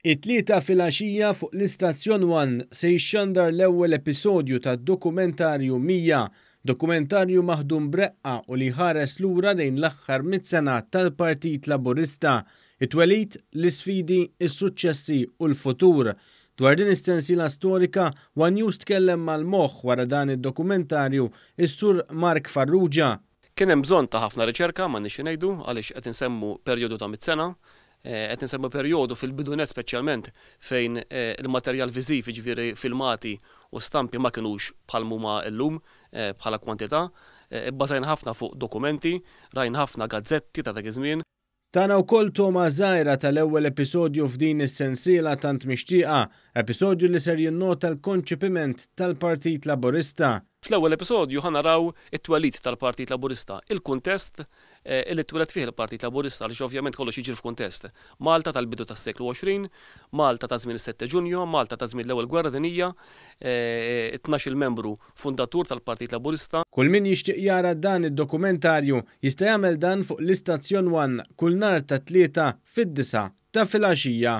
It-Tlieta filgħaxija fuq l-istazzjon One se jixxandar l-ewwel episodju tad-dokumentarju 100, dokumentarju maħdum b'reqqa u li jħares lura lejn l-aħħar mitt sena tal-Partit Laburista, it-twelid, l-isfidi, is-suċċessi u l-futur. Dwar din is-sensiela storika, One News tkellem mal-moħħ wara dan id-dokumentarju, is-Sur Mark Farrugia. Kien hemm bżonn ta' ħafna riċerka, m'għandniex xi ngħidu, għaliex qed insemmu perjodu ta' mitt sena, qed insemmu perjodu fil-bidu nett speċjalment fejn il-materjal viżiv, jiġifieri filmati u stampi ma kinux bħal m'huma llum bħala kwantità. Ibbażajna ħafna fuq dokumenti, rajna ħafna gazzetti ta' dak iż-żmien. Tana wkoll togħma żgħira tal-ewwel episodju f'din is-sensiela tant mixtieqa, episodju li ser jinnota l-konċepiment tal-Partit Laburista. Fl-ewwel episodju ħa naraw it-twelid tal-Partit Laburista, il-kuntest li twieled fih il-Partit Laburista għaliex ovvjament kollox jiġri f'kuntest. Malta tal-bidu tas-seklu 20, Malta ta' żmien is-Sette Ġunju, Malta ta' żmien l-Ewwel Gwerra Dinjija, it-tnax-il membru fundatur tal-Partit Laburista. Kull min jixtieq jara dan id-dokumentarju jista' jagħmel dan fuq l-istazzjon One kull nhar ta' Tlieta fid-disgħa ta' filgħaxija.